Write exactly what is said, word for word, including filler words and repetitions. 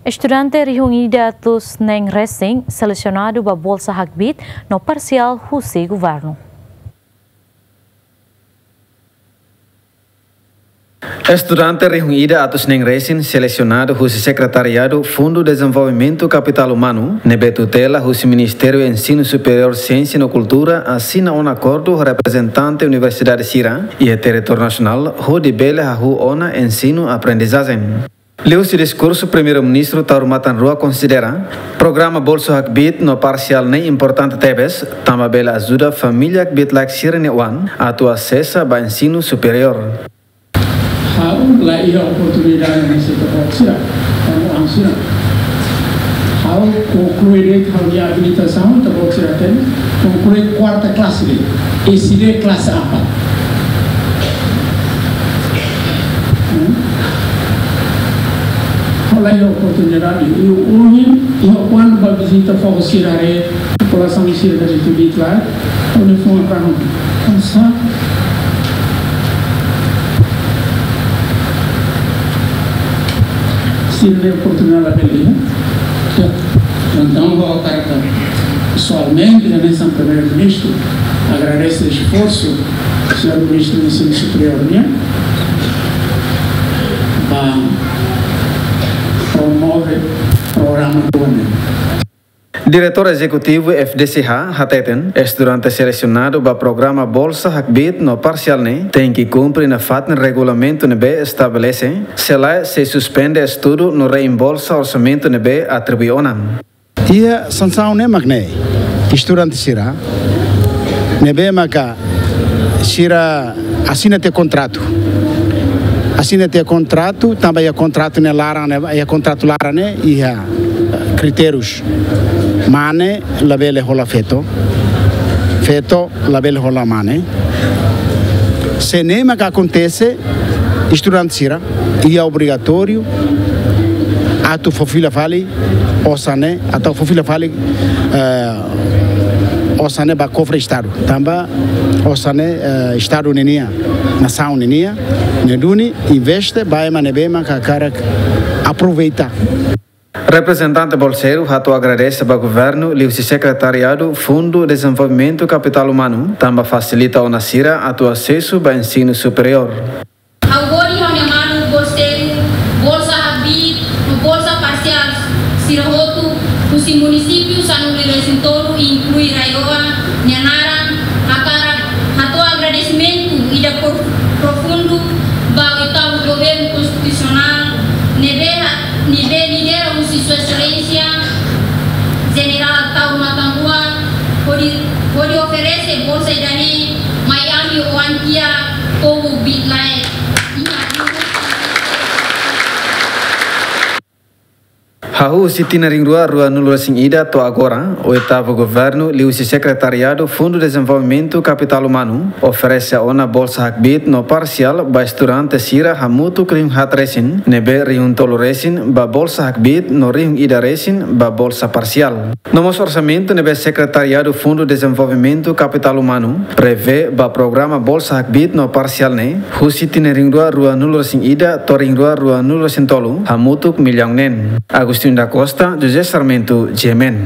Estudante rihun ida atus neen resin selesionadu ba bolsa hakbiit no parsiál husi governu. Estudante rihun ida atus neen resin selesionadu husi Sekretariadu Fundu Dezenvolvimentu Kapitál Umanu, ne'ebé tutela husi Ministériu Ensinu Superiór, Siénsia no Kultura, asina ona akordu ho reprezentante universidade sira iha territóriu nasionál, hodi bele hahú ona ensinu-aprendizajen. Liuhusi diskursu, Primeiru-Ministru Taur Matan Ruak konsidera programa bolsa hakbiit no parsiál ne'e importante tebes, tanba bele ajuda família hakbiit-laek sira-nia oan atu asesa ba ensinu superiór. Ha'u la iha oportunidade ne'e, se ita-boot sira, ha'u ansina. Ha'u konklui de'it ha'u-nia abilitasaun, ita-boot sira hatene, konklui kuarta klase de'it, S D klase apat. Hmm? Ha'u la iha oportunidade, i ohin, i kuandu bá vizita foho sira haree, populasaun sira dari Tibit la, ha'u-nia fuan ranu. Kansa. Sira-nia oportunidade labele iha. Ya. Entaun, ha'u hakarak pesoalmente, hanesan Primeiru-Ministru, agradese esforsu señór Ministru Ensinu Superiór nian, ba promove programa rua ne'e. Diretór Ezekutivu F D C H hateten, estudante selesionadu ba programa bolsa hakbiit no parsiál ne'e tenke kumpre nafatin regulamentu ne'ebé estabelese, selae sei suspende estudu no reembolsa orsamentu ne'ebé atribui ona. Iha sansaun ne'e mak ne'e, estudante sira ne'ebé maka sira asina tiha kontratu. Asina tiha kontratu, tanba iha kontratu ne'e laran ne'e, iha kontratu laran ne'e iha, eh, kritérius. Mane labele hola feto. Feto labele hola mane. Se ne'e maka akontese, estudante sira iha obrigatóriu atu fó fila fali osan ne'e, atu fó fila fali, eh, osan ne'e ba kofre Estadu. Tanba osan ne'e, eh, Estadu ninian, nasaun ninian, ne'e duni investe ba ema ne'ebé maka hakarak aproveita. Reprezentante bolseiru hato'o agradese ba governu liuhusi Sekretariadu Fundu Dezenvolvimentu Kapitál Umanu, tanba fasilita ona sira atu asesu ba ensinu superiór. Ha'u hodi ha'u-nia maluk bolseiru, bolsa hakbiit no bolsa parsiál sira hotu, husi munisípiu sanulu-resin-tolu, inklui RAEOA nia naran, hakarak hato'o agradesimentu ida pro-, profundu ba oitavu governu konstitusionál, ne'ebé ha-, ne'ebé lidera husi Sua Exelénsia Jenerál Taur Matan Ruak, hodi, hodi oferese bolsa ida-ne'e mai ami oan kiak, povu hakbiit-laek. Hahú husi tinan rihun rua ruanulu-resin-ida to'o agora, oitavu governu liuhusi Sekretariadu Fundu Dezenvolvimentu Kapitál Umanu oferese ona bolsa hakbiit no parsiál ba estudante sira hamutuk rihun haat resin, ne'ebé rihun tolu resin ba bolsa hakbiit no rihun ida resin ba bolsa parsiál. No mós orsamentu ne'ebé Sekretariadu Fundu Dezenvolvimentu Kapitál Umanu prevee ba programa bolsa hakbiit no parsiál ne'e, husi tinan rihun rua ruanulu-resin-ida to'o rihun rua ruanulu-resin-tolu, hamutuk millaun neen. Agostinho da Costa, José Sarmento, G M N.